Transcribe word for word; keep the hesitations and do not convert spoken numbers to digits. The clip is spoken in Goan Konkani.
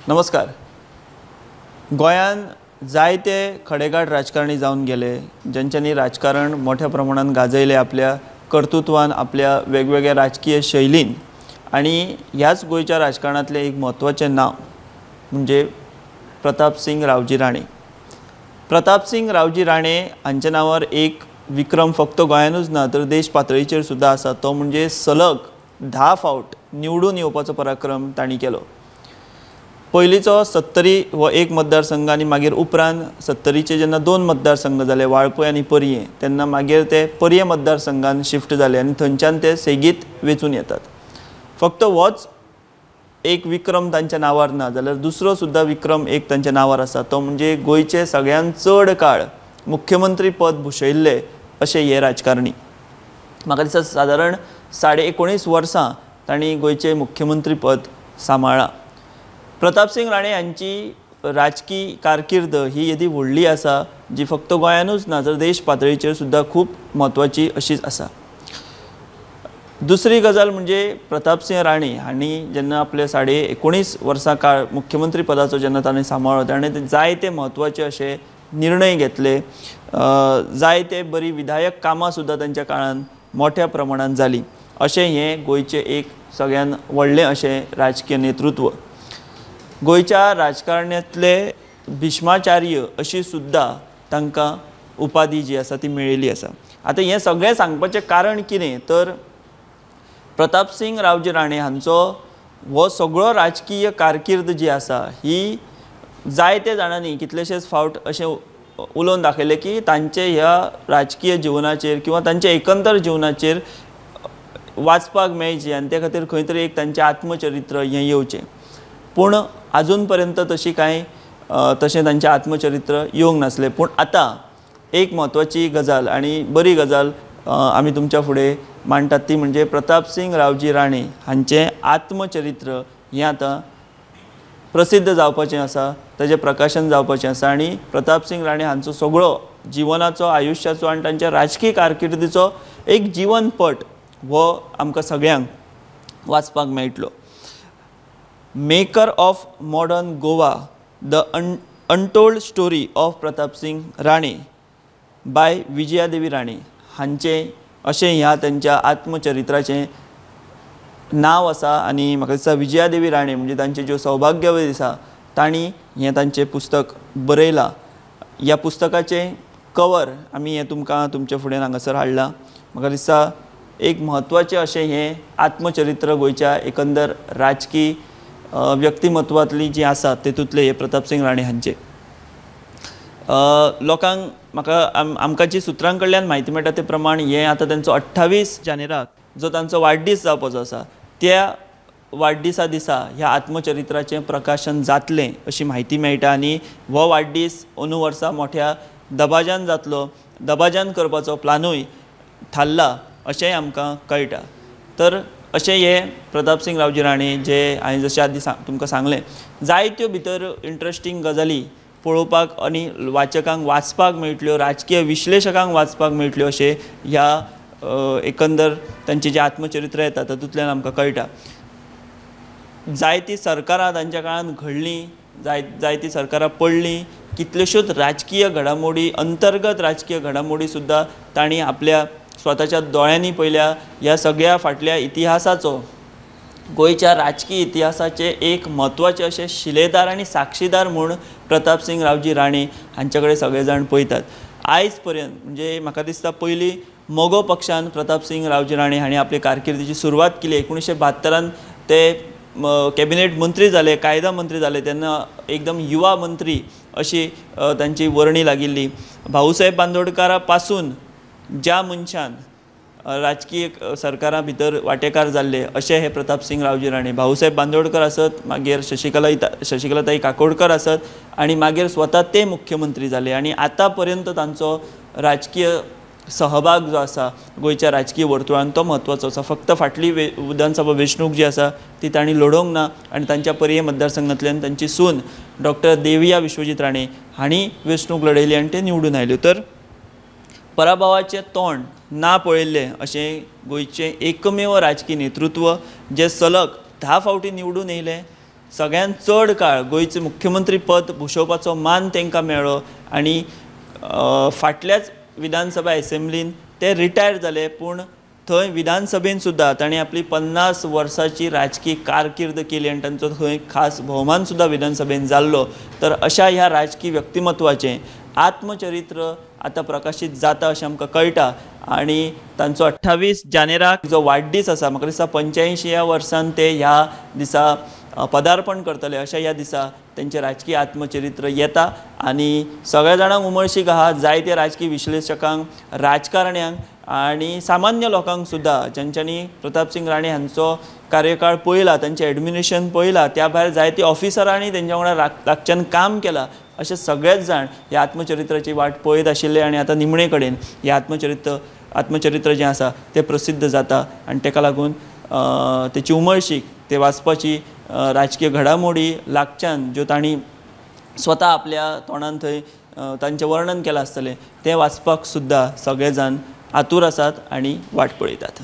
नमस्कार. गोंयान जायते खडेगांठ राजकारणी जावन गेले ज्यांच्यांनी राजकारण मोठ्या प्रमाणान गाजयलें आपल्या कर्तृत्वान, आपल्या वेगवेगळ्या राजकीय शैलीन. आनी ह्याच गोंयच्या राजकारणांतलें एक म्हत्वाचें नांव म्हणजे प्रतापसिंग रावजी राणे. प्रतापसिंग रावजी राणे हांच्या नांवार एक विक्रम फक्त गोंयानूच ना तर देश पातळीचेर सुद्दां आसा, तो म्हणजे सलग धा फावट निवडून येवपाचो पराक्रम तांणी केलो. पयलींचो सत्तरी हो एक मतदारसंघ आनी मागीर उपरांत सत्तरीचे जेन्ना दोन मतदारसंघ जाले वाळपय आनी पर्यें, तेन्ना मागीर ते पर्यें मतदारसंघान शिफ्ट जाले आनी थंयच्यान ते सेगीत वेंचून येतात. फक्त होच एक विक्रम तांच्या नांवार ना जाल्यार दुसरो सुद्दां विक्रम एक तांच्या नांवार आसा, तो म्हणजे गोंयचे सगळ्यांत चड काळ मुख्यमंत्री पद भुशयिल्ले अशे हे राजकारणी. म्हाका दिसता सादारण साडे एकोणीस वर्सां तांणी गोंयचें मुख्यमंत्री पद सांबाळ्ळां. प्रतापसिंग राणे हांची राजकी कारकीर्द ही येदी व्हडली आसा जी फक्त गोंयानूच ना तर देश पातळीचेर सुद्दां खूब म्हत्वाची अशीच आसा. दुसरी गजाल म्हणजे प्रतापसिंग राणे हांणी जेन्ना आपले साडे एकोणीस वर्सां काळ मुख्यमंत्री पदाचो जेन्ना ताणें सांबाळ्ळो, ताणें जायते म्हत्वाचे अशे निर्णय घेतले, जायते बरी विधायक कामां सुद्दां तांच्या काळान मोठ्या प्रमाणान जालीं. अशें हें गोंयचें एक सगळ्यान व्हडलें अशें राजकीय नेतृत्व. गोंयच्या राजकारणांतले भीष्माचार्य अशी सुद्दां तांकां उपाधी जी आसा ती मेळिल्ली आसा. आतां हें सगळें सांगपाचें कारण कितें तर प्रतापसिंग रावजी राणे हांचो हो सगळो राजकीय कारकीर्द जी आसा ही जायते जाणांनी कितलेशेच फावट अशें उलोवन दाखयलें की तांचे ह्या राजकीय जिवनाचेर किंवा तांच्या एकंदर जिवनाचेर वाचपाक मेळचें आनी ते खातीर खंय तरी एक तांचें आत्मचरित्र हें येवचें. पूण आजून पर्यंत तशी कांय तशें तांचें आत्मचरित्र येवंक नासलें. पूण आतां एक म्हत्वाची गजाल आनी बरी गजाल आमी तुमच्या फुडें मांडटात ती म्हणजे प्रतापसिंग रावजी राणे हांचें आत्मचरित्र हें आतां प्रसिद्ध जावपाचें आसा, ताजें प्रकाशन जावपाचें आसा. आनी प्रतापसिंग राणे हांचो सगळो जिवनाचो, आयुश्याचो आनी तांच्या राजकीय कारकिर्दीचो एक जिवनपट हो आमकां सगळ्यांक वाचपाक मेळटलो. Maker of modern Goa, the un untold story of Pratapsingh Rane by Vijayadevi Rane हांचें अशें ह्या तांच्या आत्मचरित्राचें नांव आसा. आनी म्हाका दिसता विजयादेवी राणे म्हणजे तांचे ज्यो सौभाग्यवती आसा तांणी हें तांचें पुस्तक बरयलां. ह्या पुस्तकाचें कवर आमी हें तुमकां तुमच्या फुडें हांगासर हाडलां. म्हाका दिसता एक म्हत्वाचें अशें हें आत्मचरित्र गोंयच्या एकंदर राजकी व्यक्तिमत्वांतली जी आसा तेतूंतले हे प्रतापसिंग राणे हांचे. लोकांक म्हाका आम आमकां जी सुत्रां कडल्यान म्हायती मेळटा ते प्रमाण हें आतां तांचो अठ्ठावीस जानेराक जो तांचो वाडदीस जावपाचो आसा त्या वाडदिसा दिसा ह्या आत्मचरित्राचें प्रकाशन जातलें अशी म्हायती मेळटा. आनी हो वाडदीस अंदू वर्सा मोठ्या दबाज्यान जातलो, दबाज्यान करपाचो प्लानूय थारला अशेंय आमकां कळटा. तर अशें हे प्रतापसिंग रावजी राणे जे हांवें जशें आदीं सांग तुमकां सांगलें, जायत्यो भितर इंट्रस्टींग गजाली पळोवपाक आनी वाचकांक वाचपाक मेळटल्यो, राजकीय विश्लेशकांक वाचपाक मेळटल्यो अशें ह्या एकंदर तांचें जें आत्मचरित्र येता तातूंतल्यान आमकां कळटा. जायतीं सरकारां तांच्या काळांत घडलीं, जाय जायतीं सरकारां पडलीं, कितल्योश्योच राजकीय घडामोडी, अंतर्गत राजकीय घडामोडी सुद्दां तांणी आपल्या स्वताच्या दोळ्यांनी पळयल्या. ह्या सगळ्या फाटल्या इतिहासाचो, गोंयच्या राजकीय इतिहासाचे एक म्हत्वाचे अशे शिलेदार आनी साक्षीदार म्हूण प्रतापसिंग रावजी राणे हांचे कडेन सगळे जाण पळयतात. आयज पर्यंत म्हणजे म्हाका दिसता पयलीं मगो पक्षान प्रतापसिंग रावजी राणे हांणी आपले कारकिर्दीची सुरवात केली. एकुणीशें बहात्तरान ते कॅबिनेट मंत्री जाले, कायदा मंत्री जाले, तेन्ना एकदम युवा मंत्री अशी तांची वर्णी लागिल्ली. भाऊसाहेब बांदोडकारा पासून ज्या मनशान राजकीय सरकारां भितर वांटेकार जाल्ले अशे हे प्रतापसिंग रावजी राणे. भाऊसाहेब बांदोडकर आसत, मागीर शशिकला शशिकलाताई काकोडकर आसत आनी मागीर स्वता ते मुख्यमंत्री जाले. आनी आतां पर्यंत तांचो राजकीय सहभाग जो आसा गोंयच्या राजकीय वर्तुळान तो म्हत्वाचो आसा. फक्त फाटली वे विधानसभा वेंचणूक जी आसा ती तांणी लडोवंक ना आनी तांच्या पर्यें मतदारसंघांतल्यान तांची सून डॉक्टर देविया विश्वजीत राणे हांणी वेंचणूक लडयली आनी ते निवडून आयल्यो. तर पराभवाचें तोंड ना पळयल्लें अशें गोंयचें एकमेव राजकीय नेतृत्व जें सलग धा फावटी निवडून येयलें, सगळ्यांत चड काळ गोंयचें मुख्यमंत्री पद भुशोवपाचो मान तांकां मेळ्ळो आनी फाटल्याच विधानसभा एसेंब्लीन ते रिटायर जाले, पूण थंय विधानसभेन सुद्दां तांणी आपली पन्नास वर्सांची राजकी कारकीर्द केली आनी तांचो थंय खास भोवमान सुद्दां विधानसभेन जाल्लो. तर अशा ह्या राजकी व्यक्तिमत्वाचें आत्मचरित्र आतां प्रकाशीत जाता अशें आमकां कळटा आनी तांचो अठ्ठावीस जानेराक जो वाडदीस आसा, म्हाका दिसता पंच्यायंशी ह्या वर्सान ते ह्या दिसा पदार्पण करतले. अशा ह्या दिसा तेंचें राजकी आत्मचरित्र येता आनी सगळ्या जाणांक उमळशीक आहा, जायते राजकी विश्लेशकांक, राजकारण्यांक आनी सामान्य लोकांक सुद्दां ज्यांच्यांनी प्रतापसिंग राणे हांचो कार्यकाळ पळयला, तांचें एडमिनिस्ट्रेशन पळयला, त्या भायर जायते ऑफिसरांनी तेंच्या वांगडा लागच्यान काम केलां, अशे सगळेच जाण ह्या आत्मचरित्राची वाट पळयत आशिल्ले आनी आतां निमणे कडेन हें आत्मचरित्र आत्मचरित्र जें आसा तें प्रसिद्ध जाता आनी ताका लागून तेची उमळशीक, ते वाचपाची राजकीय घडामोडी लागच्यान ज्यो तांणी स्वता आपल्या तोंडान थंय तांचें वर्णन केलां आसतलें तें वाचपाक सुद्दां सगळे जाण आतूर आसात आनी वाट पळयतात.